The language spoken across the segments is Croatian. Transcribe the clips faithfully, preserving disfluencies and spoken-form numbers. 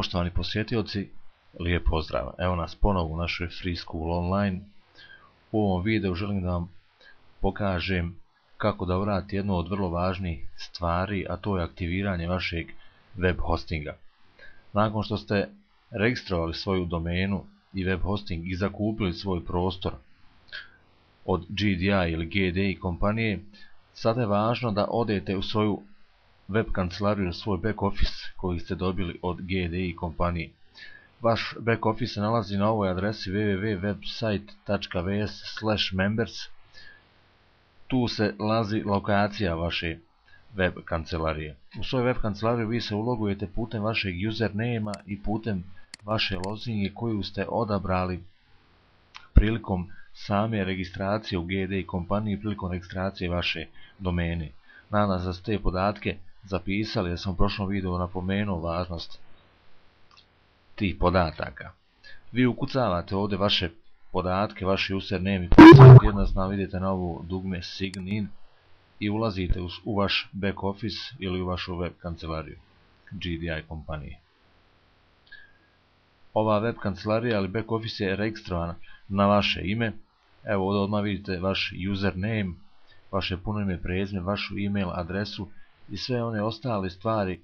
Poštovani posjetioci, lijep pozdrav. Evo nas ponovo u našoj Free School Online. U ovom videu želim da vam pokažem kako da uradite jednu od vrlo važnih stvari, a to je aktiviranje vašeg web hostinga. Nakon što ste registrovali svoju domenu i web hosting i zakupili svoj prostor od G D I ili G D I kompanije, sada je važno da odete u svoju web kancelariju, svoj back office koji ste dobili od G D I kompanije. Vaš back office se nalazi na ovoj adresi w w w tačka website tačka v s slash members. Tu se nalazi lokacija vaše web kancelarije. U svojoj web kancelariju vi se ulogujete putem vašeg username i putem vaše lozinge koju ste odabrali prilikom same registracije u G D I kompaniji, prilikom registracije vaše domene. Nadam se da ste te podatke zapisali, jer sam u prošlom videu napomenuo važnost tih podataka. Vi ukucavate ovdje vaše podatke, vaši username, jednostavno vidite na ovo dugme Sign in i ulazite u, u vaš back office ili u vašu web kancelariju G D I kompanije. Ova web kancelarija ili back office je registrovana na vaše ime. Evo ovdje odmah vidite vaš username, vaše puno ime, prezime, vašu email adresu i sve one ostale stvari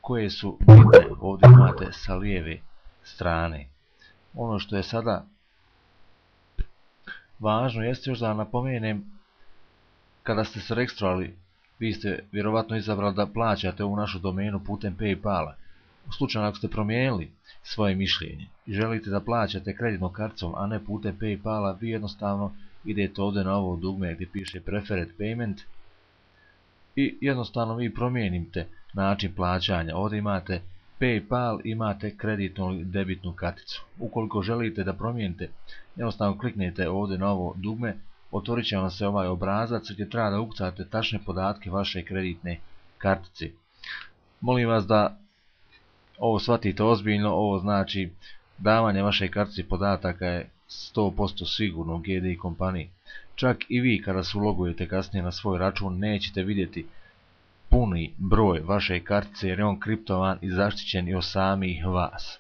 koje su bitne ovdje imate sa lijeve strane. Ono što je sada važno jeste još da napomenem, kada ste se registrovali, vi ste vjerovatno izabrali da plaćate ovu našu domenu putem PayPala. U slučaju ako ste promijenili svoje mišljenje i želite da plaćate kreditnom karticom, a ne putem PayPala, vi jednostavno idete ovdje na ovo dugme gdje piše Preferred Payment i jednostavno vi promijenite način plaćanja. Ovdje imate PayPal, imate kreditnu ili debitnu karticu. Ukoliko želite da promijenite, jednostavno kliknete ovdje na ovo dugme, otvorit će vam se ovaj obrazac gdje treba da ukucate tačne podatke vaše kreditne kartice. Molim vas da ovo shvatite ozbiljno, ovo znači davanje vaše kartice podataka je sto posto sigurno u G D I kompaniji. Čak i vi kada se ulogujete kasnije na svoj račun nećete vidjeti puni broj vaše kartice jer je on kriptovan i zaštićen i od samih vas.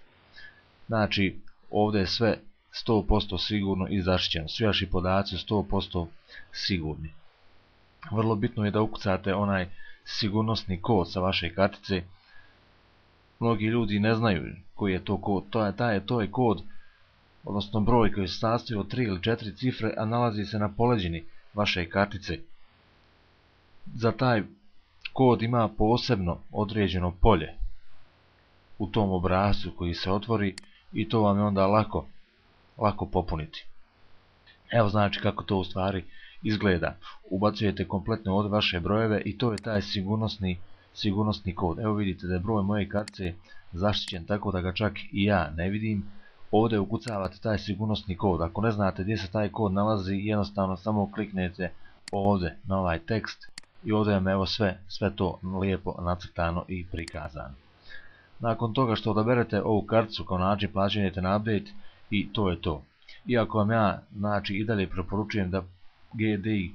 Znači ovdje je sve sto posto sigurno i zaštićeno. Svi vaši podaci su sto posto sigurni. Vrlo bitno je da ukucate onaj sigurnosni kod sa vaše kartice. Mnogi ljudi ne znaju koji je to kod. To je, taj, to je kod, odnosno broj koji se sastoji od tri ili četiri cifre, a nalazi se na poleđini vaše kartice. Za taj kod ima posebno određeno polje u tom obrascu koji se otvori i to vam je onda lako, lako popuniti. Evo znači kako to u stvari izgleda. Ubacujete kompletno od vaše brojeve i to je taj sigurnosni, sigurnosni kod. Evo vidite da je broj moje kartice zaštićen tako da ga čak i ja ne vidim. Ovdje ukucavate taj sigurnosni kod. Ako ne znate gdje se taj kod nalazi, jednostavno samo kliknete ovdje na ovaj tekst i ovdje vam evo sve, sve to lijepo nacrtano i prikazano. Nakon toga što odaberete ovu karticu kao način plaćanja, idete na update i to je to. Iako vam ja znači i dalje preporučujem da G D I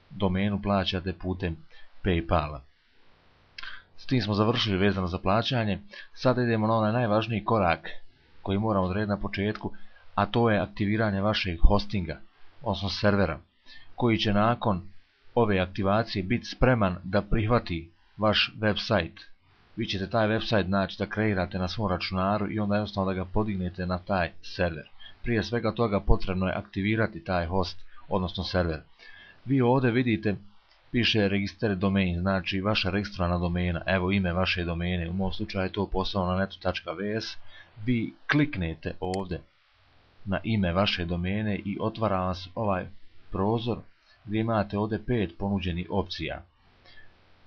domenu plaćate putem PayPala. S tim smo završili vezano za plaćanje. Sada idemo na onaj najvažniji korak koji moramo odrediti na početku, a to je aktiviranje vašeg hostinga, odnosno servera, koji će nakon ove aktivacije biti spreman da prihvati vaš website. Vi ćete taj website znači da kreirate na svom računaru i onda jednostavno da ga podignete na taj server. Prije svega toga potrebno je aktivirati taj host, odnosno server. Vi ovdje vidite piše register domain, znači vaša registrovana domena, evo ime vaše domene, u mom slučaju je to poslovnonetu tačka v s. Vi kliknete ovdje na ime vaše domene i otvara vas ovaj prozor gdje imate ovdje pet ponuđenih opcija.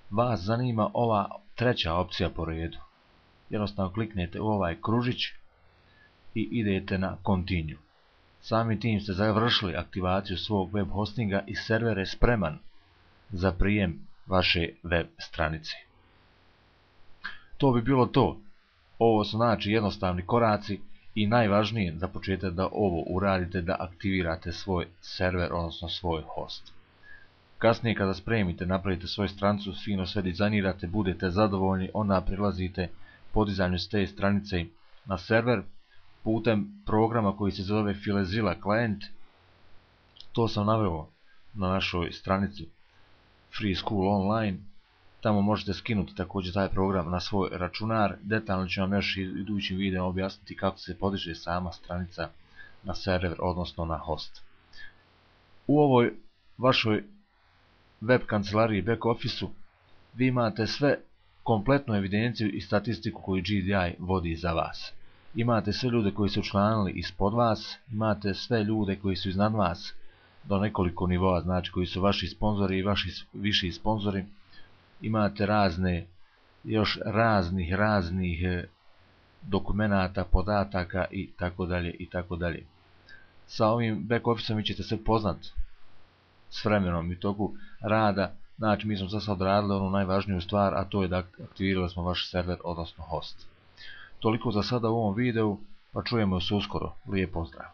Vas zanima ova treća opcija po redu. Jednostavno kliknete u ovaj kružić i idete na Continue. Samim tim ste završili aktivaciju svog web hostinga i server je spreman za prijem vaše web stranice. To bi bilo to. Ovo su znači jednostavni koraci i najvažnije za početak da ovo uradite, da aktivirate svoj server, odnosno svoj host. Kasnije kada spremite, napravite svoju stranicu, fino sve dizajnirate, budete zadovoljni, onda prilazite podizanju s te stranice na server putem programa koji se zove FileZilla Client. To sam naveo na našoj stranici Free School Online. Tamo možete skinuti također taj program na svoj računar. Detaljno ću vam još idućim videom objasniti kako se podiže sama stranica na server, odnosno na host. U ovoj vašoj web kancelariji back office-u vi imate sve kompletnu evidenciju i statistiku koju G D I vodi za vas. Imate sve ljude koji su učlanili ispod vas, imate sve ljude koji su iznad vas do nekoliko nivoa, znači koji su vaši sponzori i vaši viši sponzori. Imate razne, još raznih, raznih dokumenata, podataka i tako dalje i tako dalje. Sa ovim back office-om vi ćete se poznat s vremenom i toku rada. Znači mi smo za sad radili onu najvažniju stvar, a to je da aktivirali smo vaš server, odnosno host. Toliko za sada u ovom videu, pa čujemo se uskoro. Lijep pozdrav!